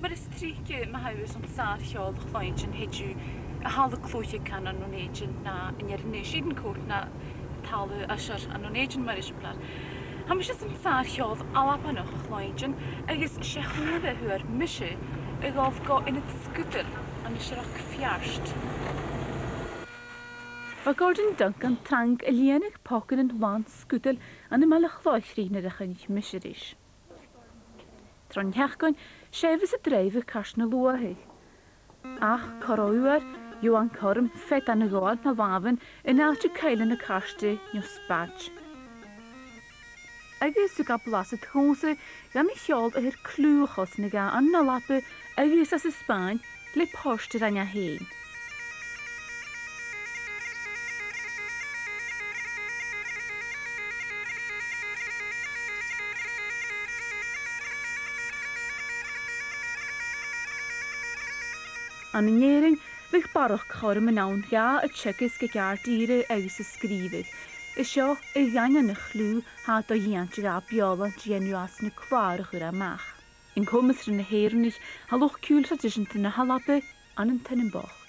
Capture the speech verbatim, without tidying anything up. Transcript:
Mar is tríce ma haibh an sárcheol chláin sin hidiú a halla clúiche can an nónéidin na in ar ní cót na talu asar an nónéidin mar is an plan. Ha mis an sárcheol alapanach chláin agus sé chuile thuair mise a gáh go ina scútal an seach fiarst. Ba Gordon Duncan trang a líanach pocan an bháin scútal an i meile chláithrí na a chunig miseris. Tron heachcoin séhas a dréimh cas na luathaigh. Ach choróuair jo an chorm fet an na gáil na bháhan in áte caiile na caiste nó spáid. Agus sa gablas a tósa gan na cheol a thuir clúchas na ga an na lapa agus as a Spáin le póiste an a héin. An néing bh barach chum an ann ga a tsegus go ceartíre agus a scríbh. Is seo i ghaine na chlú há do dhéanta ga beola déanú as na clár chur amach. In cumasra na héirnich ha luch cúltraidisiúnta na halapa an an tunnebach.